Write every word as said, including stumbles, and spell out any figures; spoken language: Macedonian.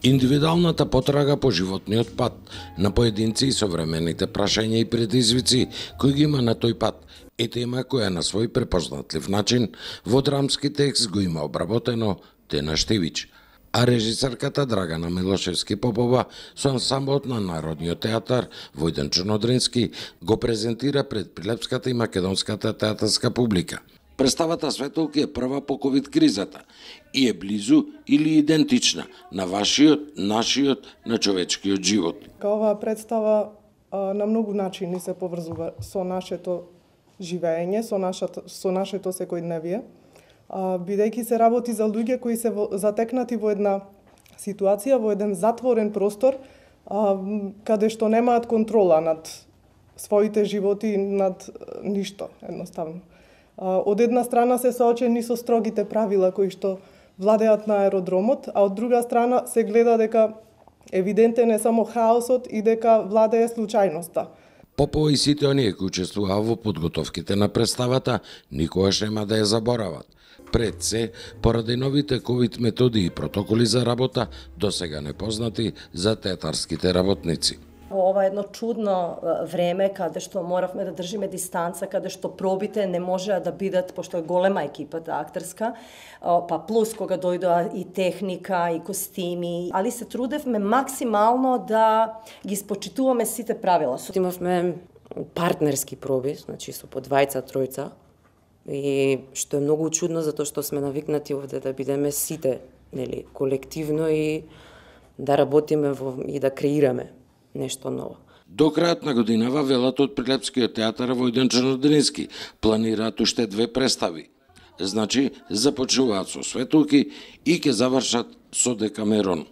Индивидуалната потрага по животниот пат на поединци и современите прашања и предизвици кои ги има на тој пат е тема која на свој препознатлив начин во драмски текст го има обработено Тена Штивич, а режисерката Драгана Милошевски Попова со ансамблот на Народниот театар Војден Чернодрински го презентира пред прилепската и македонската театарска публика. Представата Светолки е прва по ковид кризата и е близу или идентична на вашиот, нашиот, на човечкиот живот. Оваа представа а, на многу начини се поврзува со нашето живење, со нашето, со нашето секојдневие, а, бидејќи се работи за луѓе кои се во, затекнати во една ситуација, во еден затворен простор, а, каде што немаат контрола над своите животи, над ништо, едноставно. Од една страна се соочени со строгите правила кои што владеат на аеродромот, а од друга страна се гледа дека евидентен е само хаосот и дека владее случајноста. Попова и сите оние кои учествуваа во подготовките на представата никогаш нема да ја заборават. Пред се, поради новите ковид методи и протоколи за работа, досега непознати за театарските работници. Во ова едно чудно време, каде што моравме да држиме дистанца, каде што пробите не можеа да бидат, пошто е голема екипата актерска, па плюс кога дојдоа и техника, и костими, али се трудевме максимално да ги спочитуваме сите правила. Имавме партнерски проби, значи со по двајца, тројца, и што е многу чудно, затоа што сме навикнати овде да бидеме сите, нели, колективно и да работиме во, и да креираме нешто ново. До крајот на годинава велат од Прилепскиот театар Војден Чернодрински планираат уште две представи. Значи, започнуваат со Светолки и ќе завршат со Декамерон.